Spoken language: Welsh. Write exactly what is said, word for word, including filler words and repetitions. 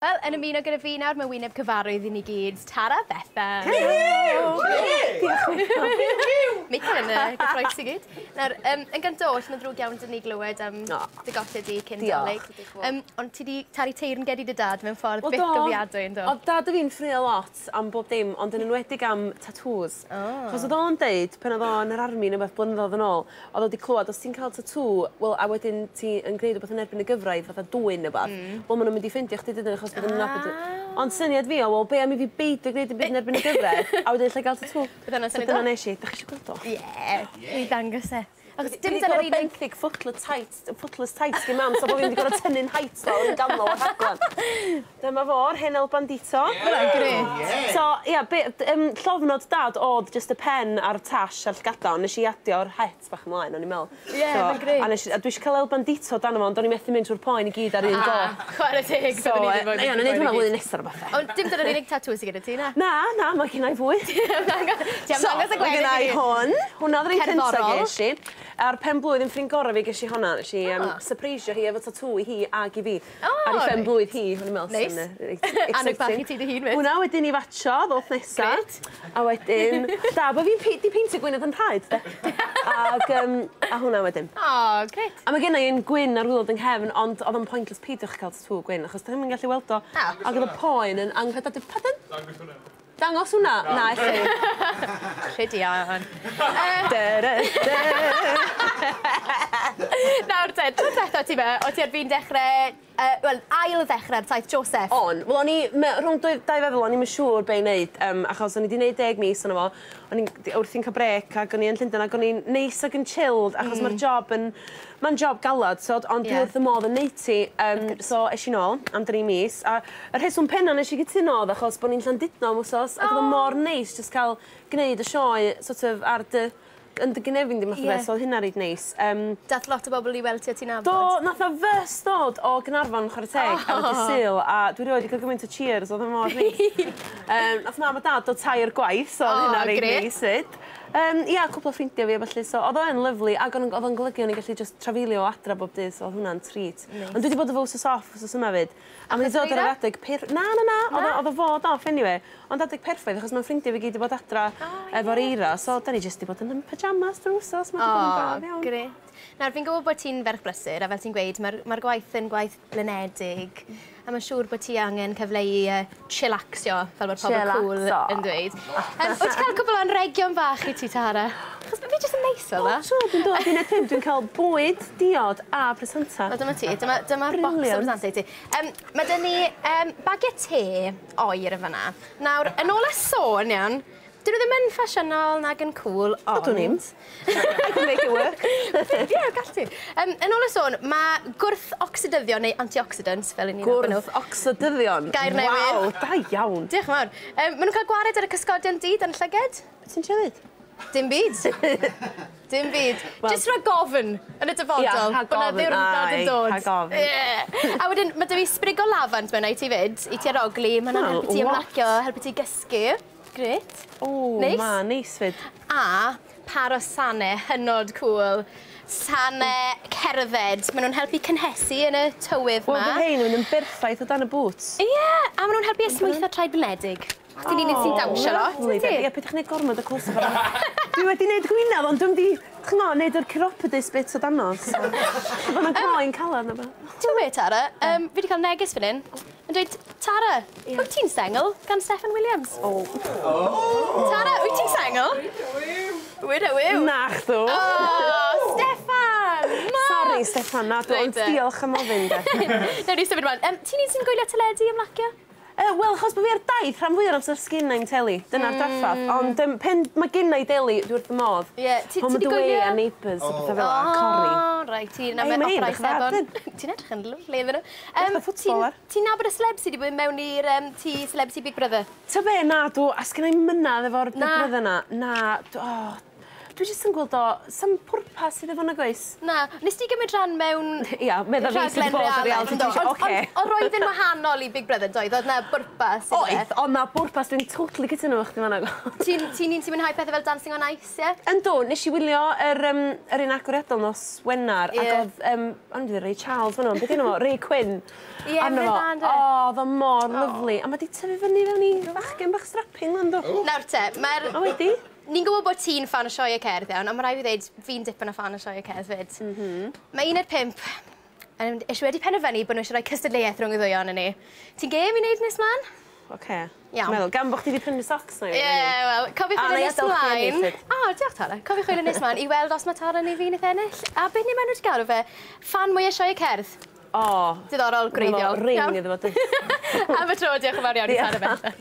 Wel, yn ymuno gyda fi nawr, mae wyneb cyfarwydd i ni gyd, Tara Bethan. Michael yn y gyffroes i gyd. Nawr, um, yn gyntaf oll, mae'n ddrwg iawn dyn ni glywed am oh, dy golled di cyn Dolig. Um, ond ti di talu teyrnged i dy dad mewn ffordd well, byth gofiadwy, ynddo? Oedd dad o fi'n ffrio lot am bob dim, ond yn enwedig am tattoos. Oh. Chos oedd o'n deud, pan oedd o'n yr army neu beth blynyddoedd yn ôl, oedd o wedi clywed, os ti'n cael tattoo, wel, a wedyn ti yn gwneud rhywbeth yn erbyn y gyfraith, fatha dwyn neu beth, mm. wel, maen nhw'n mynd i ffeindio chdi dydyn, achos bydden nhw'n nabod. Ond syniad fi o, wel, be am i fi beidio gwneud dim byd yn erbyn y gyfraith, a wedyn lle gael tatŵ. Bydd So dyna nes i. Dach chi eisiau gweld o? Ie, mi ddangos e. Achos dim dyna'r unig... benthyg footless tights, footless tights gyn mam, so bod fi'n wedi gorfod tynnu'n heights lawr yn ganol o'r rhaglen. Dyma fo'r hen El Bandito. Hwnna'n grêt. So, ia, be, um, llofnod dad oedd just y pen a'r tash a'r llgada, ond nes i adio'r het bach ymlaen, o'n i'n meddwl. Ie, yeah, so, mae'n grêt. A, nes i, a dwi eisiau cael El Bandito dan fo, ond o'n i'n methu mynd trwy'r poen i gyd ar un go. Chwarae teg, so, byddwn i ddim Ie, o'n i'n neud hwnna flwyddyn nesaf o'r bethau. Ond dim dyna'r unig tatŵ sydd gyda ti, na? Na, na, mae gen i fwy. Ti am ddangos y gweddill i Mae gen i hwn. Hwnna oedd yr un cyntaf ges i. Ar pen blwydd yn ffrind gorau fi ges i hwnna, nes i um, oh. surpreisio hi efo tatŵ i hi ag i fi. Oh, ar ei pen blwydd hi, hwn i'n meddwl. Neis. Annog bach i ti dy hun, Hwnna wedyn i fatio, ddoth nesa. Grêt. A wedyn, da, bo fi'n di peintio gwynedd yn rhaid, de. Ag, um, a hwnna wedyn. O, oh, grêt. A mae gen i un gwyn ar wylod yng nghefn, ond oedd o'n pointless peidiwch cael tatŵ gwyn, achos da chi'm yn gallu weld o. Oh. Ac oedd y poen yn anghredadwy. Pardon? Dangos hwnna. Dangos hwnna? Na, elli. Rhydion. Nawr te, tro diwetha ti fe, o ti ar fin dechrau, uh, wel, ail ddechrau'r taith Joseph. On. Wel, o'n i, rhwng dwy, dau feddwl, o'n i'm yn siŵr be i wneud, um, achos o'n i wedi gwneud deg mis ono fo, o'n i'n wrthi'n cael brec, ac o'n i yn Llundain, ac o'n i'n neis ac yn chilled, achos mm. mae'r job yn, mae'n job galad, so, ond yeah. dwi wrth y modd yn neud ti, um, so es i nôl am dri mis, a y rheswm penna nes i gytuno oedd achos bod ni'n Llandudno am wsos, ac oedd o mor neis just cael gwneud y sioe sort of ar dy yn dy gynefin di math o beth, so oedd hynna reit neis. Um, Dath lot o bobl i weld ti o ti'n nabod? Do, nath o fys dod o Gaernarfon, chwarae teg, oh. ar y dydd Sul, a dwi rioed wedi cael gymaint o cheers, oedd o mor neis. um, nath mam a dad dod tair gwaith, so oedd oh, hynna reit neis fyd. Um, ia, cwpl o ffrindiau fi a ballu, so oedd o'n lyfli, ac oedd o'n golygu o'n i'n gallu just trafeilio o adra bob dydd, so oedd hwnna'n treat. Nice. Ond dwi wedi bod efo wsos off wsos yma fyd. A mae'n dod ar yr adeg per... Na, na, na, oedd o fod off anyway. Ond adeg perffaith, achos mae'n ffrindiau fi gyd wedi bod adra oh, efo'r eira, so da ni just wedi bod yn pyjamas drwy'r wsos, mae'n bod yn braf iawn. Grêt. Nawr, fi'n gwybod bod ti'n ferch brysur, a fel ti'n gweud, mae'r mae gwaith yn gwaith blinedig, a mae'n siŵr bod ti angen cyfle i uh, chillaxio, fel mae'r pobl cool yn dweud. Um, wyt ti'n cael cwbl o anregion bach i ti, Tara? Achos fi jyst yn neis fel 'na. O, dwi'n dod i uned pump, dwi'n cael bwyd, diod a presanta. Wel, dyma ti, dyma, dyma'r bocs o presanta i ti. Um, mae dyn ni um, bagiau te oer yn fan'na. Nawr, yn ôl y sôn, iawn, dyn nhw ddim yn ffasiynol nag yn cool, ond... Ydw ni'n. I can make it work. Ie, gall ti. Um, yn ôl y sôn, mae gwrth-oxidyddion neu antioxidants, fel i ni'n nabod nhw. Gwrth-oxidyddion? Gair newydd. Waw, da iawn. Diolch yn fawr. Um, maen nhw'n cael gwared ar y cysgodion du dan llyged. Be ti'n trio ddeud? Dim byd. Dim byd. Well, Just rhag ofn yn y dyfodol. Ia, rhag bod 'na ofn, ddiwrnod yn dod. Rhag ofn. Yeah. A wedyn, mae 'da fi sprig o lafant mewn i ti fyd, i ti arogli. Mae hwnna'n helpu ti ymlacio, helpu ti gysgu. Grêt. O, neis. Ma, neis fyd. A par o sane hynod cool. Sane cerdded. Maen nhw'n helpu cynhesu yn y tywydd ma. Wel, fydd hein yn mynd yn berffaith o dan y boots. Ie, yeah, a maen nhw'n helpu esmwytho traed blinedig. Chdi'n unig sy'n dawnsio lot, wyt ti? Ie, peidiwch wneud gormod o close-up arno. Dwi wedi wneud gwynaf, ond dwi'm di, ch'mo, wneud yr chiropodist bit o dano. So, ma' 'na groen calad na beth. Ti'n gwybod be, Tara? Um, fi wedi cael neges fan hyn. Yn dweud, Tara, yeah. wyt ti'n sengl? Gan Steffan Williams. Oh. Oh. Tara, wyt ti'n sengl? Wyd a wyw. Na chdw. Oh, Steffan! Ma! Sorry, Steffan, na dw, ond diolch am ofyn, de. Nawr ni symud ymlaen. Um, ti'n un sy'n gwylio teledu ymlacio? Uh, Wel, achos bod fi ar daith rhan fwyaf o'r amser sgynna i'm teli. Dyna'r mm. draffath. Ond um, pen mae gynna i deli, dwi wrth y modd. Ie, yeah. ti di gwylio? Home and Away a Neighbours a pethau fel 'a, Corrie. O, reit, ti'n na opera Sebon. Ti'n edrych yn lyfli iddyn nhw. Um, footballer. Ti'n nabod y celeb sydd wedi bod mewn i'r um, tŷ Celebrity Big Brother? Ta be, na, dw, a sgynna i'm mynadd efo'r Big Brother na. Na, dw, oh, Dwi jyst yn gweld o, sam pwrpas iddo fo nag oes? Na, nes ti gymryd rhan mewn Ia, medda fi sydd wedi bod ar reality T V show, oce. Ond roedd yn wahanol i Big Brother, doedd? Oedd na bwrpas iddo fe? Oedd, oedd na bwrpas, dwi'n totally cytuno efo chdi fan'na. Ti'n un sy'n mwynhau pethau fel Dancing on Ice, ie? Yndw, nes i wylio yr, um, yr un agoriadol nos Wener, yeah. Ac oedd, um, o'n i Ray Charles fan'na, beth enw fo? Ray Quinn. Ie, yeah, mae'n dda, ynddo? O, oedd o mor oh. Lyfli. A mae di tyfu fyny fewn i fachgen bach strapping, ynddo. Nawr te, mae'r... O, wedi? Ni'n gwybod bod ti'n ffan o sioe cerdd iawn, ond mae rhaid fi ddweud fi'n dipyn o ffan o sioe cerdd fyd. Mm -hmm. Mae un o'r pump yn eisiau wedi penderfynu bod nhw eisiau rhoi cystadleuaeth rhwng y ddwy ohonon ni. Ti'n gêm i wneud nes mlaen? Oce. Iawn. Meddwl, gan bod chdi wedi prynu socks na i. Ie, wel, cofiwch chwilio nes mlaen. O, diolch Tara. Cofiwch chwilio nes mlaen i weld os mae Tara neu fi wnaeth ennill. A beth ni maen nhw wedi galw fe? Ffan mwyaf sioe cerdd. O. Diddorol, gwreiddiol. Ring iddo fo. Am y tro, diolch yn fawr iawn i Tara Bethan.